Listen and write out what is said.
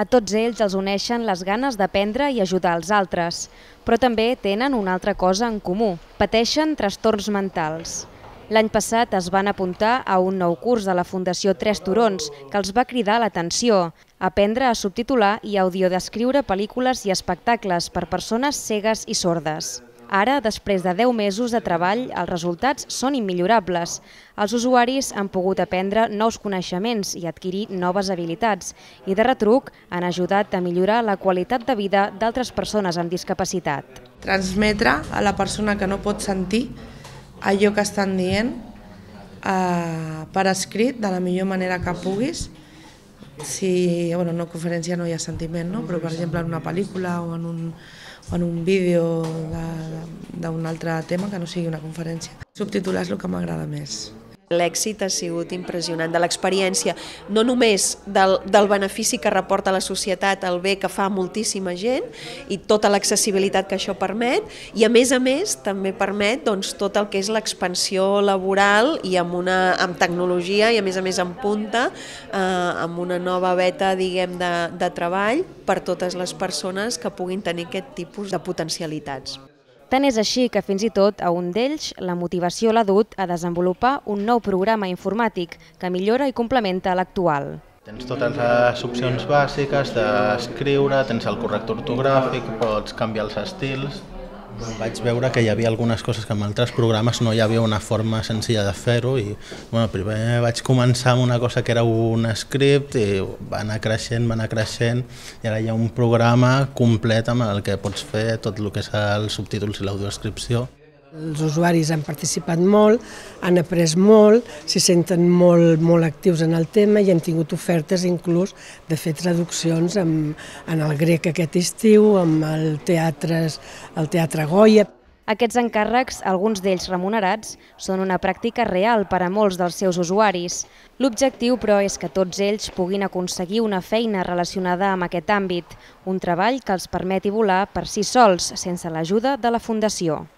A tots ells els uneixen les ganes d'aprendre i ajudar els altres, però també tenen una altra cosa en comú: pateixen trastorns mentals. L'any passat es van apuntar a un nou curs de la Fundació Tres Turons que els va cridar l'atenció: aprendre a subtitular i audiodescriure pel·lícules i espectacles per persones cegues i sordes. Ara, després de 10 mesos de treball, els resultats són immillorables. Els usuaris han pogut aprendre nous coneixements i adquirir noves habilitats i, de retruc, han ajudat a millorar la qualitat de vida d'altres persones amb discapacitat. Transmetre a la persona que no pot sentir allò que estan dient per escrit de la millor manera que puguis. Si, en una conferència no hi ha sentiment, no? Però per exemple en una pel·lícula o en un vídeo d'un altre tema que no sigui una conferència. Subtitular és el que m'agrada més. L'èxit ha sigut impressionant de l'experiència, no només del benefici que reporta a la societat, el bé que fa moltíssima gent i tota l'accessibilitat que això permet, i a més també permet tot el que és l'expansió laboral i amb tecnologia i a més en punta, amb una nova veta de treball per totes les persones que puguin tenir aquest tipus de potencialitats. Tant és així que fins i tot a un d'ells la motivació l'ha dut a desenvolupar un nou programa informàtic que millora i complementa l'actual. Tens totes les opcions bàsiques d'escriure, tens el corrector ortogràfic, pots canviar els estils. Vaig veure que hi havia algunes coses que en altres programes no hi havia una forma senzilla de fer-ho i primer vaig començar amb una cosa que era un script i va anar creixent i ara hi ha un programa complet amb el que pots fer tot el que és els subtítols i l'audiodescripció. Els usuaris han participat molt, han après molt, s'hi senten molt actius en el tema i hem tingut ofertes inclús de fer traduccions en el grec aquest estiu, amb el teatre Goya. Aquests encàrrecs, alguns d'ells remunerats, són una pràctica real per a molts dels seus usuaris. L'objectiu, però, és que tots ells puguin aconseguir una feina relacionada amb aquest àmbit, un treball que els permeti volar per si sols, sense l'ajuda de la Fundació.